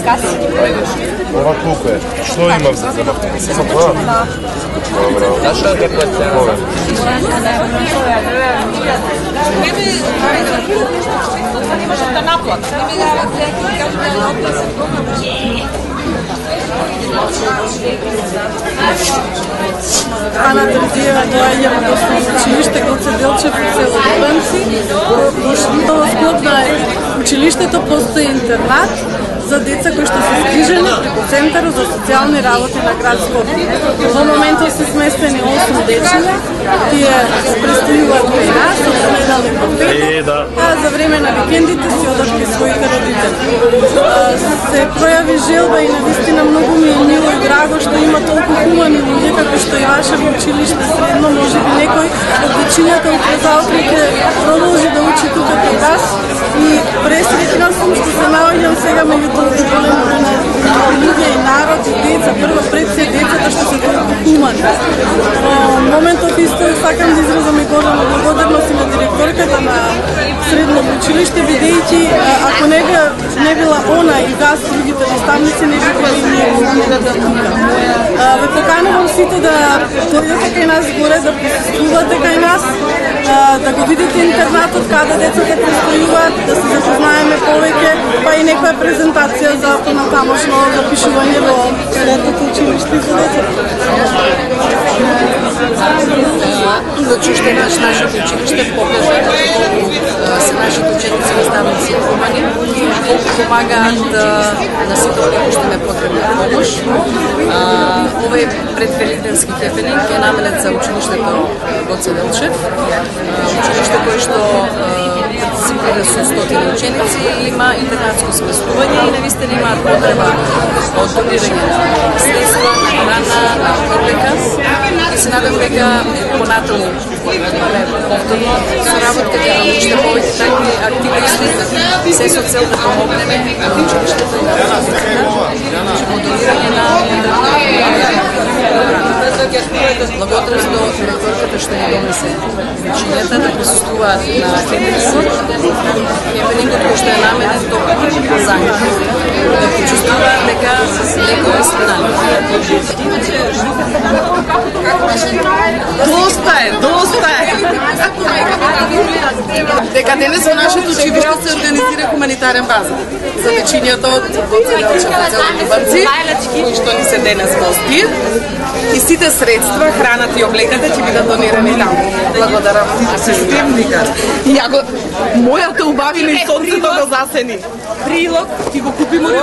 каси ти проиграш. Ова колку е? Што имам за земавте? Само тоа? Добро. Зашто ќе платите? Не можеш да наплатиш. Ана Терзиева доаѓа во основно училиште Гоце Делчев во село Дубанци. Во склоп на училиштето постои интернат за деца кои што се згрижени преку Центарот за социјални работи на град Скопје. Во моментот се сместени 8 дечиња, тие престојуваат кај нас од понеделник до петок, а за време на викендите си одат кај своите родители. Се пројави желба и навистина многу ми е мило и драго што има толку хумани луѓе како што и ваше во училиште средно, може би некој од дечињата утре ќе продолжи да учи тука кај вас и пресреќна сум што се наоѓам сега меѓу толку голем број на луѓе и народ и деца, прво пред се децата што се толку хумани. Во моментот исто сакам да изразам и голема благодарност и на директорката на средното училиште, бидејќи ако не била она и вас другите наставници не би били ние тука. Ве поканувам сите да дојдете кај нас горе, да присуствувате кај нас, да го видите интернатот каде децата престојуваат, да се запознаеме повеќе, па и некоја презентација за понатамошно запишување во летното училиште за децата. Значи што нашето училиште покажа се нашите ученици и наставници хумани, колку помагаат на сите кои што не потребна помош. Овој предвеликденски хепенинг е наменет за училиштето Гоце Делчев, училиште кое што партиципира со 100 ученици, има интернатско сместување и навистина имаат потреба од донирање на средства, на храна, на облека. И се надам дека понатаму имаме повторно соработка ќе научите повеќе такви активности, се со цел да помогнеме на училиштето и на родителите во донирање на благодарност до директорката што ни донесе учењата да присуствуваат на хепенингот кој што е наменет токму за нив, да почувствуваат дека некој е страна. Доста е! Дека денес во нашето училиште се организира хуманитарен базар за дечињата од Гоце Делчев во село Дубанци, кои што ни се денес гости. И сите средства, храната и облеката ќе бидат донирани таму. Благодарам. Системника. И ако мојата убавина и сонцето го засени. Прилог, ќе го купиме ли?